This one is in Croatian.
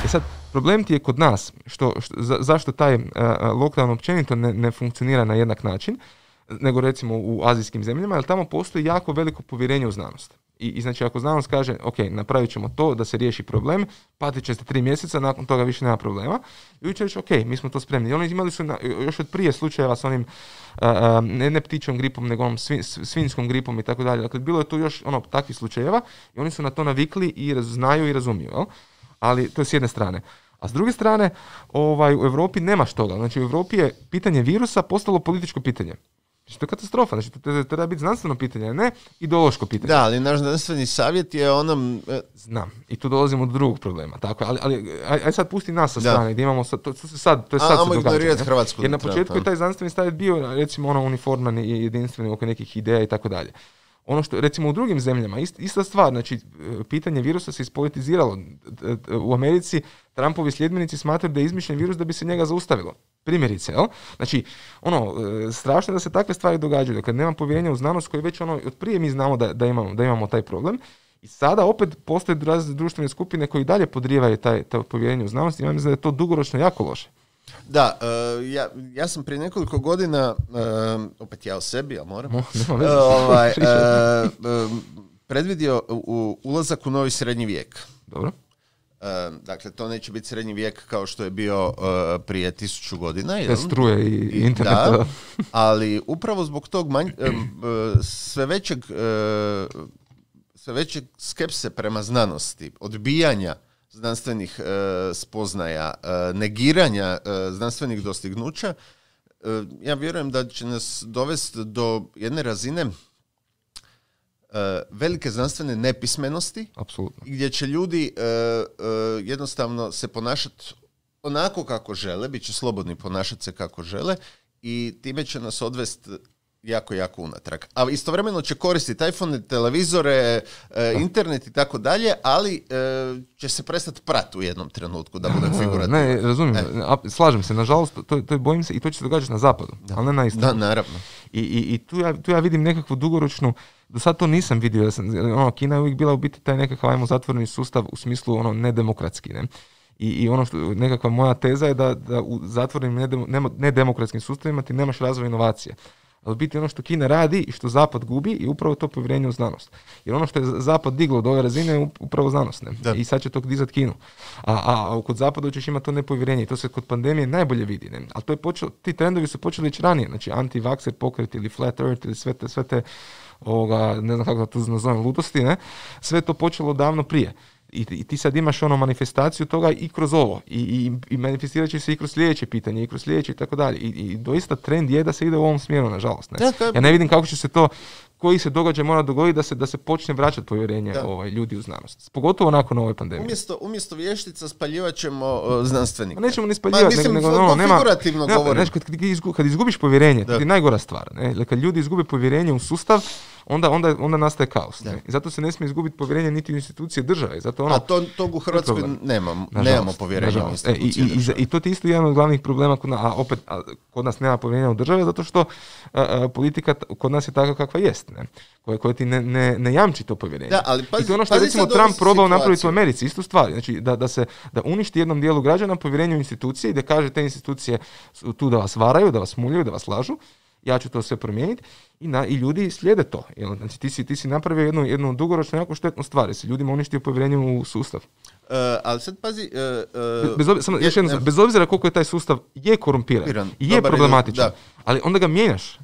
sad, problem ti je kod nas, zašto taj lockdown općenito ne funkcionira na jednak način, nego recimo u azijskim zemljama, jer tamo postoji jako veliko povjerenje u znanost. I znači ako znanost kaže, ok, napravit ćemo to da se riješi problem, patit ćete 3 mjeseca, nakon toga više nema problema, i će reći, ok, mi smo to spremni. I oni imali su još od prije slučajeva s onim ne ptičjom gripom, nego onom svinjskom gripom i tako dalje. Dakle, bilo je tu još takvih slučajeva i oni su na to navikli i znaju i razumiju. Jel? Ali to je s jedne strane. A s druge strane, u Europi nemaš toga. Znači, u Europi je pitanje virusa postalo političko pitanje. Znači, to je katastrofa. Znači, to treba biti znanstveno pitanje, a ne ideološko pitanje. Da, ali naš znanstveni savjet je onom... Znam. I tu dolazimo do drugog problema. Tako, ali aj sad pusti nas sa strane, gdje imamo sad, to je sad se događa. Hrvatsku. Jer na početku je taj znanstveni savjet bio, recimo, uniforman i jedinstveni oko nekih ideja i tako dalje. Ono što, recimo, u drugim zemljama, ista stvar, znači, pitanje virusa se ispolitiziralo. U Americi Trumpovi sljedbenici smatraju da je izmišljen virus da bi se njega zaustavilo. Primjerice, jel? Znači, strašno je da se takve stvari događaju. Dakle, nema povjerenja u znanost koji već od prije mi znamo da imamo taj problem. I sada opet postoje razne društvene skupine koji dalje podrijevaju to povjerenje u znanost i ja mislim da je to dugoročno jako loše. Da, ja sam prije nekoliko godina, opet ja o sebi, ali moram, predvidio ulazak u novi srednji vijek. Dobro. Dakle, to neće biti srednji vijek kao što je bio prije 1000 godina. Te struje i interneta. Da, ali upravo zbog tog sve većeg skepse prema znanosti, odbijanja znanstvenih spoznaja, negiranja znanstvenih dostignuća, ja vjerujem da će nas dovesti do jedne razine velike znanstvene nepismenosti. Apsolutno. Gdje će ljudi jednostavno se ponašati onako kako žele, bit će slobodni ponašati se kako žele i time će nas odvesti jako, jako unatrag. A istovremeno će koristiti iPhone, televizore, internet i tako dalje, ali će se prestati prati u jednom trenutku, da budem figurativno. Ne, razumijem. Slažem se, nažalost, to bojim se i to će se događati na zapadu, ali ne na istoku. Da, naravno. I tu ja vidim nekakvu dugoročnu, do sad to nisam vidio, Kina je uvijek bila u biti taj nekakav, zatvoreni sustav u smislu nedemokratski, ne? I ono što nekakva moja teza je da u zatvorenim nedemokratskim sustavima ti nemaš razvoj inovacije. Ali biti ono što Kina radi i što Zapad gubi i upravo to povjerenje u znanost. Jer ono što je Zapad diglo do ove razine je upravo znanost. Ne? I sad će to dizati Kinu. A kod Zapada ćeš imati to nepovjerenje i to se kod pandemije najbolje vidi. Ne? Ali to je ti trendovi su počeli već ranije. Znači anti-vaxxer pokret ili flat earth ili sve te ne znam kako da to nazovem, ludosti. Ne? Sve to počelo davno prije. I ti sad imaš manifestaciju toga i kroz ovo. I manifestirat će se i kroz sljedeće pitanje, i kroz sljedeće i tako dalje. I doista trend je da se ide u ovom smjeru, nažalost. Ne? Ja ne vidim kako će se to, koji se događaj mora dogoditi da se počne vraćati povjerenje ljudi u znanost. Pogotovo nakon ove pandemije. Umjesto vještica spaljivat ćemo znanstvenike. Ne spaljivati, nego figurativno govorim. Kad izgubiš povjerenje, to je najgora stvar. Ne? Kad ljudi izgube povjerenje u sustav, onda nastaje kaos. Ne? I zato se ne smije izgubiti povjerenje niti u institucije države. Zato a tog u Hrvatskoj nemamo povjerenja u institucije države. I to je isto jedan od glavnih problema kod nas nema povjerenja u države, zato što politika kod nas je takva kakva jest. Ne? Koja ti ne jamči to povjerenje. Da, ali i to je ono što recimo Trump probao napraviti u Americi, istu stvar. Znači da uništi jednom dijelu građana povjerenje u institucije i da kaže te institucije su tu da vas varaju, da vas muljaju, da vas lažu. Ja ću to sve promijeniti i ljudi slijede to. Znači ti si napravio jednu dugoročno jako štetnu stvar, jer si ljudima uništio povjerenje u sustav. Ali sad pazi... bez obzira koliko je taj sustav je korumpiran i je problematičan, ali onda ga mijenjaš.